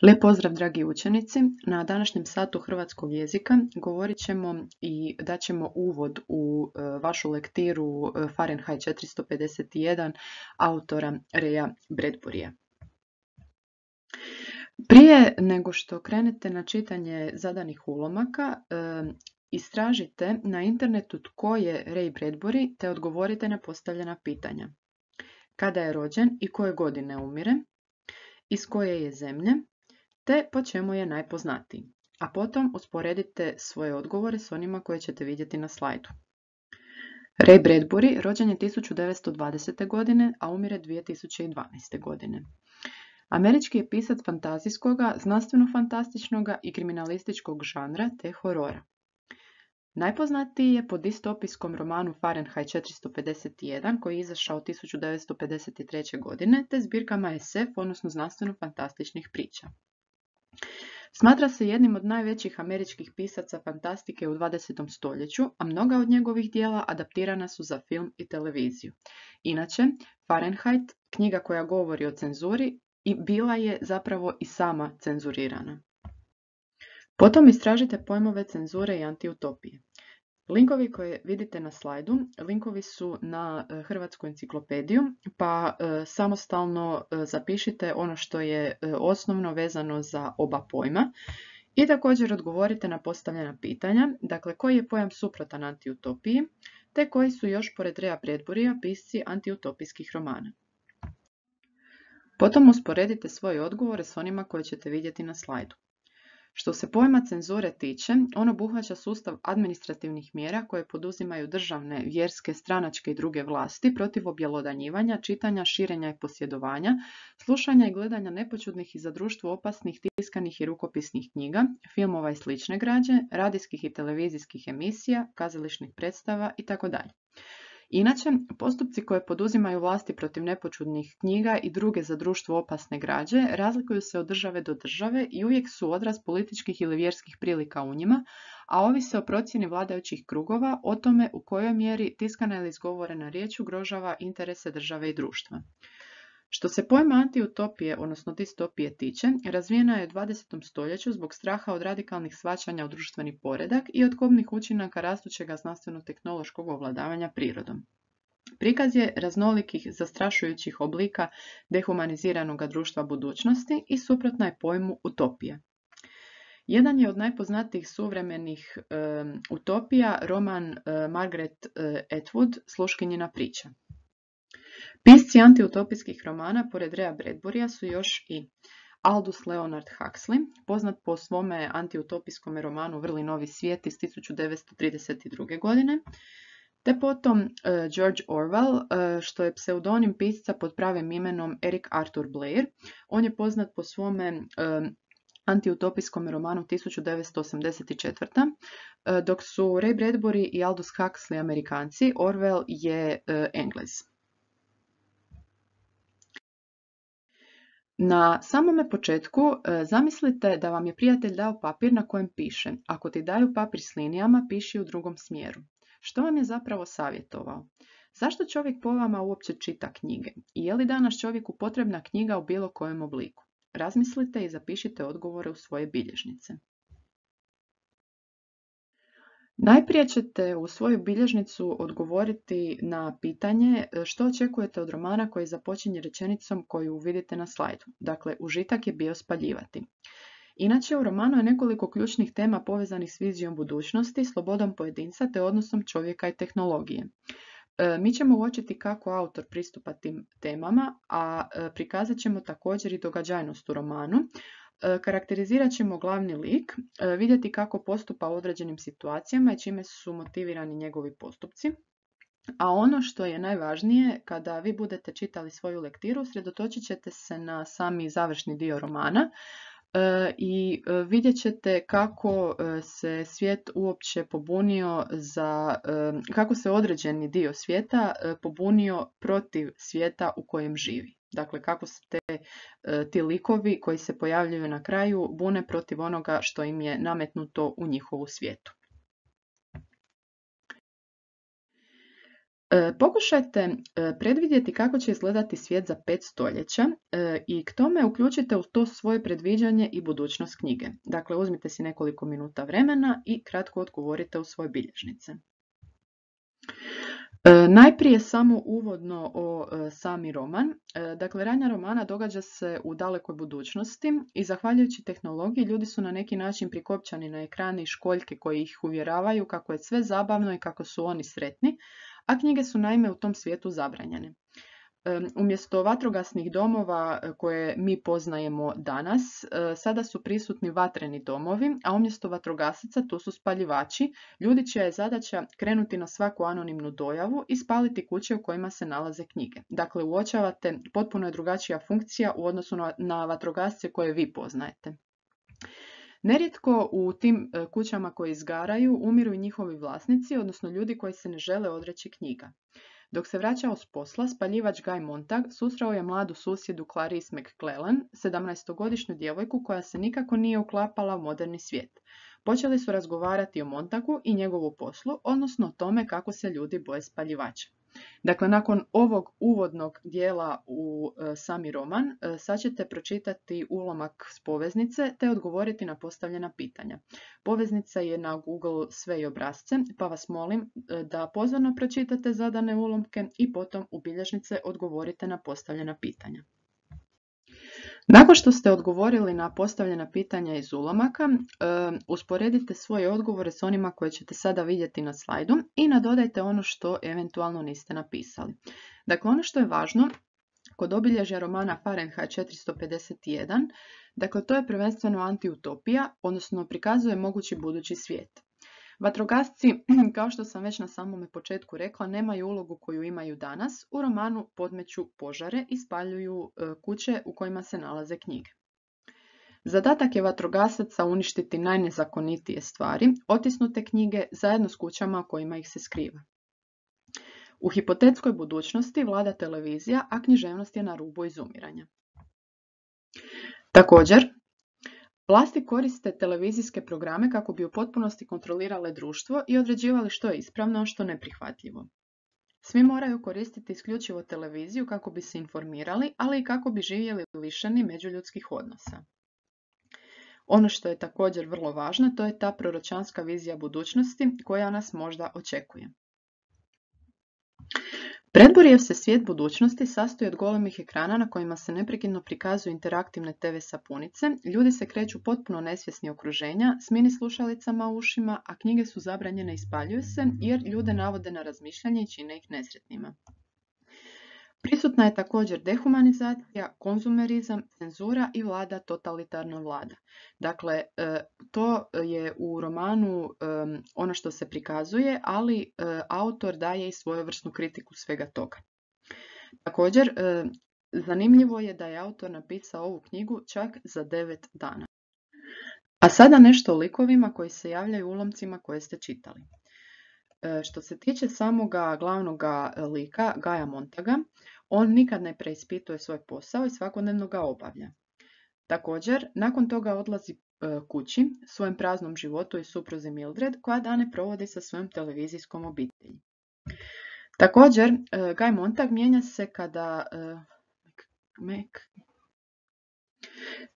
Lijep pozdrav dragi učenici. Na današnjem satu hrvatskog jezika govorit ćemo i daćemo uvod u vašu lektiru Fahrenheit 451 autora Raya Bradburya. Prije nego što krenete na čitanje zadanih ulomaka, istražite na internetu tko je Ray Bradbury te odgovorite na postavljena pitanja. Kada je rođen i koje godine umire, iz koje je zemlje, te po čemu je najpoznatiji, a potom usporedite svoje odgovore s onima koje ćete vidjeti na slajdu. Ray Bradbury rođen je 1920. godine, a umire 2012. godine. Američki je pisac fantazijskoga, znanstveno-fantastičnoga i kriminalističkog žanra te horora. Najpoznatiji je po distopijskom romanu Fahrenheit 451 koji je izašao 1953. godine te zbirkama SF, odnosno znanstveno-fantastičnih priča. Smatra se jednim od najvećih američkih pisaca fantastike u 20. stoljeću, a mnoga od njegovih dijela adaptirana su za film i televiziju. Inače, Fahrenheit, knjiga koja govori o cenzuri, i bila je zapravo i sama cenzurirana. Potom istražite pojmove cenzure i antiutopije. Linkovi koje vidite na slajdu, linkovi su na Hrvatsku enciklopediju, pa samostalno zapišite ono što je osnovno vezano za oba pojma i također odgovorite na postavljena pitanja, dakle koji je pojam suprotan antiutopiji, te koji su još pored Raya Bradburya pisci antiutopijskih romana. Potom usporedite svoje odgovore s onima koje ćete vidjeti na slajdu. Što se pojma cenzure tiče, on obuhvaća sustav administrativnih mjera koje poduzimaju državne, vjerske, stranačke i druge vlasti protiv objelodanjivanja, čitanja, širenja i posjedovanja, slušanja i gledanja nepoćudnih i za društvo opasnih tiskanih i rukopisnih knjiga, filmova i slične građe, radijskih i televizijskih emisija, kazališnih predstava itd. Inače, postupci koje poduzimaju vlasti protiv nepoćudnih knjiga i druge za društvo opasne građe razlikuju se od države do države i uvijek su odraz političkih ili vjerskih prilika u njima, a ovise o procjeni vladajućih krugova o tome u kojoj mjeri tiskana ili izgovorena riječ ugrožava interese države i društva. Što se pojma antiutopije, odnosno distopije tiče, razvijena je u 20. stoljeću zbog straha od radikalnih shvaćanja u društveni poredak i od kobnih učinaka rastućega znanstveno-tehnološkog ovladavanja prirodom. Prikaz je raznolikih zastrašujućih oblika dehumaniziranog društva budućnosti i suprotna je pojmu utopija. Jedan je od najpoznatijih suvremenih utopija roman Margaret Atwood Sluškinjina priča. Pisci antiutopijskih romana pored Raya Bradburya su još i Aldous Leonard Huxley, poznat po svome antiutopijskom romanu Vrli novi svijet iz 1932. godine, te potom George Orwell, što je pseudonim pisca pod pravim imenom Eric Arthur Blair. On je poznat po svome antiutopijskom romanu 1984. Dok su Ray Bradbury i Aldous Huxley Amerikanci, Orwell je Englez. Na samome početku zamislite da vam je prijatelj dao papir na kojem piše: ako ti daju papir s linijama, piši u drugom smjeru. Što vam je zapravo savjetovao? Zašto čovjek po vama uopće čita knjige? I je li danas čovjeku potrebna knjiga u bilo kojem obliku? Razmislite i zapišite odgovore u svoje bilježnice. Najprije ćete u svoju bilježnicu odgovoriti na pitanje što očekujete od romana koji započinje rečenicom koju vidite na slajdu. Dakle, užitak je bio spaljivati. Inače, u romanu je nekoliko ključnih tema povezanih s vizijom budućnosti, slobodom pojedinca te odnosom čovjeka i tehnologije. Mi ćemo uočiti kako autor pristupa tim temama, a prikazat ćemo također i događajnost u romanu. Karakterizirat ćemo glavni lik, vidjeti kako postupa u određenim situacijama i čime su motivirani njegovi postupci. A ono što je najvažnije, kada vi budete čitali svoju lektiru, sredotočit ćete se na sami završni dio romana i vidjet ćete kako se svijet uopće pobunio kako se određeni dio svijeta pobunio protiv svijeta u kojem živi. Dakle, kako se ti likovi koji se pojavljuju na kraju bune protiv onoga što im je nametnuto u njihovu svijetu. Pokušajte predvidjeti kako će izgledati svijet za 5 stoljeća i k tome uključite u to svoje predviđanje i budućnost knjige. Dakle, uzmite si nekoliko minuta vremena i kratko odgovorite u svoje bilježnice. Najprije samo uvodno o sami roman. Dakle, radnja romana događa se u dalekoj budućnosti i zahvaljujući tehnologiji ljudi su na neki način prikopčani na ekrane i školjke koji ih uvjeravaju kako je sve zabavno i kako su oni sretni, a knjige su naime u tom svijetu zabranjene. Umjesto vatrogasnih domova koje mi poznajemo danas, sada su prisutni vatreni domovi, a umjesto vatrogasaca tu su spaljivači, ljudi čija je zadaća krenuti na svaku anonimnu dojavu i spaliti kuće u kojima se nalaze knjige. Dakle, uočavate, potpuno je drugačija funkcija u odnosu na vatrogasce koje vi poznajete. Nerijetko u tim kućama koje izgaraju umiru i njihovi vlasnici, odnosno ljudi koji se ne žele odreći knjiga. Dok se vraćao s posla, spaljivač Guy Montag susreo je mladu susjedu Clarice McClellan, 17-godišnju djevojku koja se nikako nije uklapala u moderni svijet. Počeli su razgovarati o Montagu i njegovu poslu, odnosno o tome kako se ljudi boje spaljivača. Dakle, nakon ovog uvodnog dijela u sami roman, sad ćete pročitati ulomak s poveznice te odgovoriti na postavljena pitanja. Poveznica je na Google sve i obrasce, pa vas molim da pozorno pročitate zadane ulomke i potom u bilježnice odgovorite na postavljena pitanja. Nakon što ste odgovorili na postavljena pitanja iz ulomaka, usporedite svoje odgovore s onima koje ćete sada vidjeti na slajdu i nadodajte ono što eventualno niste napisali. Dakle, ono što je važno kod obilježja romana Fahrenheit 451, dakle to je prvenstveno antiutopija, odnosno prikazuje mogući budući svijet. Vatrogasci, kao što sam već na samome početku rekla, nemaju ulogu koju imaju danas. U romanu podmeću požare i spaljuju kuće u kojima se nalaze knjige. Zadatak je vatrogasaca uništiti najnezakonitije stvari, otisnute knjige zajedno s kućama u kojima ih se skriva. U hipotetskoj budućnosti vlada televizija, a književnost je na rubu izumiranja. Također, vlasti koriste televizijske programe kako bi u potpunosti kontrolirale društvo i određivali što je ispravno, a što neprihvatljivo. Svi moraju koristiti isključivo televiziju kako bi se informirali, ali i kako bi živjeli lišeni međuljudskih odnosa. Ono što je također vrlo važno, to je ta proročanska vizija budućnosti koja nas možda očekuje. Bradburyjev se svijet budućnosti sastoji od golemih ekrana na kojima se neprekidno prikazuju interaktivne TV sapunice, ljudi se kreću potpuno nesvjesni okruženja, s mini slušalicama u ušima, a knjige su zabranjene i spaljuju se jer ljude navode na razmišljanje i čine ih nesretnima. Prisutna je također dehumanizacija, konzumerizam, cenzura i vlada totalitarna vlada. Dakle, to je u romanu ono što se prikazuje, ali autor daje i svojevrsnu kritiku svega toga. Također, zanimljivo je da je autor napisao ovu knjigu čak za 9 dana. A sada nešto o likovima koji se javljaju u ulomcima koje ste čitali. Što se tiče samoga glavnoga lika, Gaya Montaga, on nikad ne preispituje svoj posao i svakodnevno ga obavlja. Također, nakon toga odlazi kući, svojem praznom životu i supruzi Mildred, koja dane provodi sa svojom televizijskom obitelji. Također, Guy Montag mijenja se kada...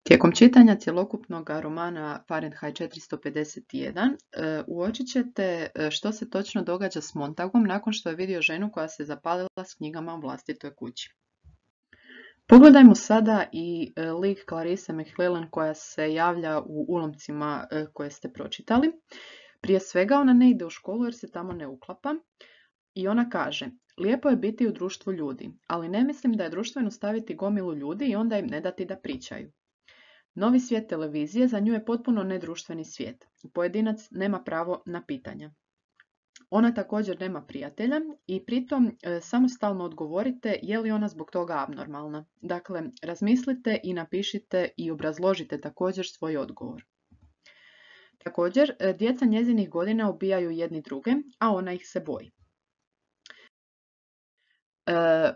Tijekom čitanja cjelokupnog romana Fahrenheit 451 uočit ćete što se točno događa s Montagom nakon što je vidio ženu koja se zapalila s knjigama u vlastitoj kući. Pogledajmo sada i lik Clarice McClellan koja se javlja u ulomcima koje ste pročitali. Prije svega ona ne ide u školu jer se tamo ne uklapa i ona kaže: lijepo je biti u društvu ljudi, ali ne mislim da je društveno staviti gomilu ljudi i onda im ne dati da pričaju. Novi svijet televizije za nju je potpuno nedruštveni svijet. Pojedinac nema pravo na pitanja. Ona također nema prijatelja i pritom samostalno odgovorite je li ona zbog toga abnormalna. Dakle, razmislite i napišite i obrazložite također svoj odgovor. Također, djeca njezinih godina ubijaju jedni druge, a ona ih se boji.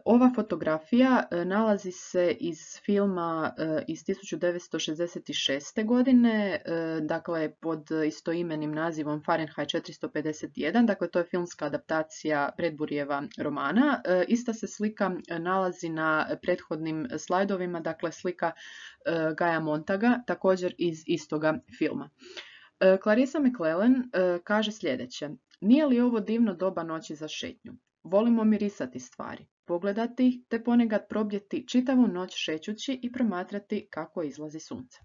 Ova fotografija nalazi se iz filma iz 1966. godine, dakle pod istoimenim nazivom Fahrenheit 451, dakle to je filmska adaptacija Bradburyjeva romana. Ista se slika nalazi na prethodnim slajdovima, dakle slika Gaja Montaga, također iz istoga filma. Clarissa McClellan kaže sljedeće: nije li ovo divno doba noći za šetnju? Volimo mirisati stvari, pogledati ih te ponekad probdjeti čitavu noć šećući i promatrati kako izlazi sunce.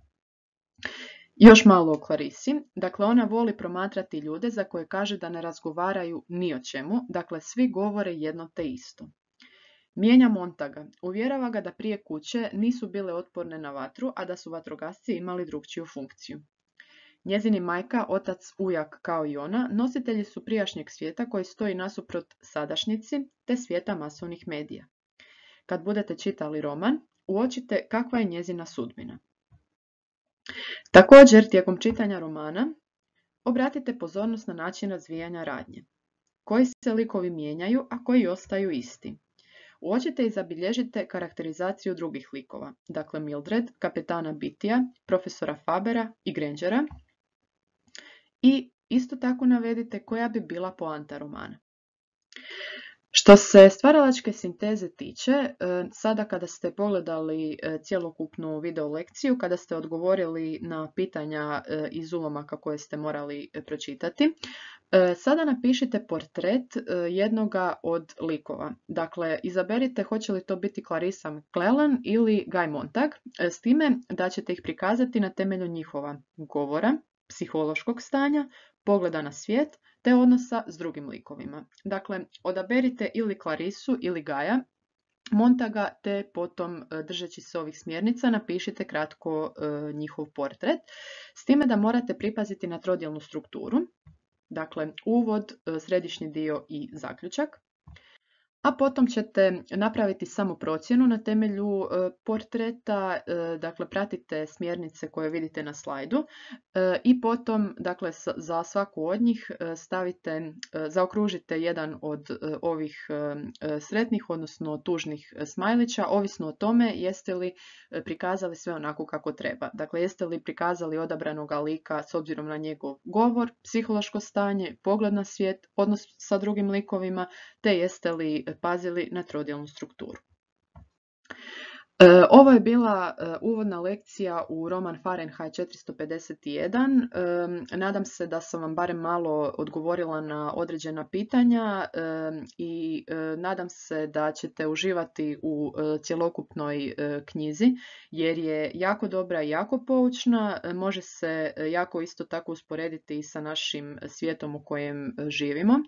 Još malo o Clarisi. Dakle, ona voli promatrati ljude za koje kaže da ne razgovaraju ni o čemu, dakle svi govore jedno te isto. Mijenja Montaga, uvjerava ga da prije kuće nisu bile otporne na vatru, a da su vatrogasci imali drukčiju funkciju. Njezini majka, otac, ujak kao i ona nositelji su prijašnjeg svijeta koji stoji nasuprot sadašnjici te svijeta masovnih medija. Kad budete čitali roman, uočite kakva je njezina sudbina. Također, tijekom čitanja romana, obratite pozornost na način razvijanja radnje. Koji se likovi mijenjaju, a koji ostaju isti. Uočite i zabilježite karakterizaciju drugih likova, dakle Mildred, kapetana Beattya, profesora Fabera i Grangera, i isto tako navedite koja bi bila poanta romana. Što se stvaralačke sinteze tiče, sada kada ste pogledali cjelokupnu video lekciju, kada ste odgovorili na pitanja iz ulomaka koje ste morali pročitati, sada napišite portret jednoga od likova. Dakle, izaberite hoće li to biti Clarissa McClellan ili Guy Montag, s time da ćete ih prikazati na temelju njihova govora, psihološkog stanja, pogleda na svijet, te odnosa s drugim likovima. Dakle, odaberite ili Clarissu ili Gaja Montaga, te potom, držeći se ovih smjernica, napišite kratko njihov portret, s time da morate pripaziti na trodjelnu strukturu, dakle uvod, središnji dio i zaključak. A potom ćete napraviti samo procjenu na temelju portreta, dakle pratite smjernice koje vidite na slajdu i potom, dakle, za svaku od njih zaokružite jedan od ovih sretnih, odnosno tužnih smajlića, ovisno o tome jeste li prikazali sve onako kako treba. Dakle, jeste li prikazali odabranog lika s obzirom na njegov govor, psihološko stanje, pogled na svijet, odnos sa drugim likovima, te jeste li pazili na trodjelnu strukturu. Ovo je bila uvodna lekcija u roman Fahrenheit 451. Nadam se da sam vam barem malo odgovorila na određena pitanja i nadam se da ćete uživati u cjelokupnoj knjizi, jer je jako dobra i jako poučna. Može se jako isto tako usporediti i sa našim svijetom u kojem živimo.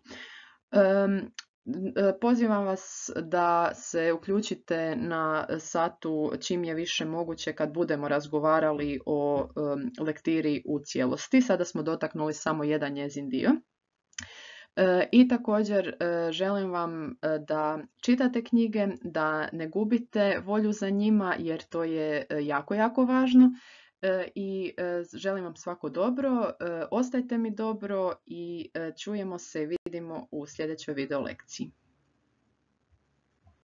Pozivam vas da se uključite na satu čim je više moguće kad budemo razgovarali o lektiri u cijelosti. Sada smo dotaknuli samo jedan njezin dio. I također želim vam da čitate knjige, da ne gubite volju za njima jer to je jako, jako važno. I želim vam svako dobro, ostajte mi dobro i čujemo se i vidimo u sljedećoj video lekciji.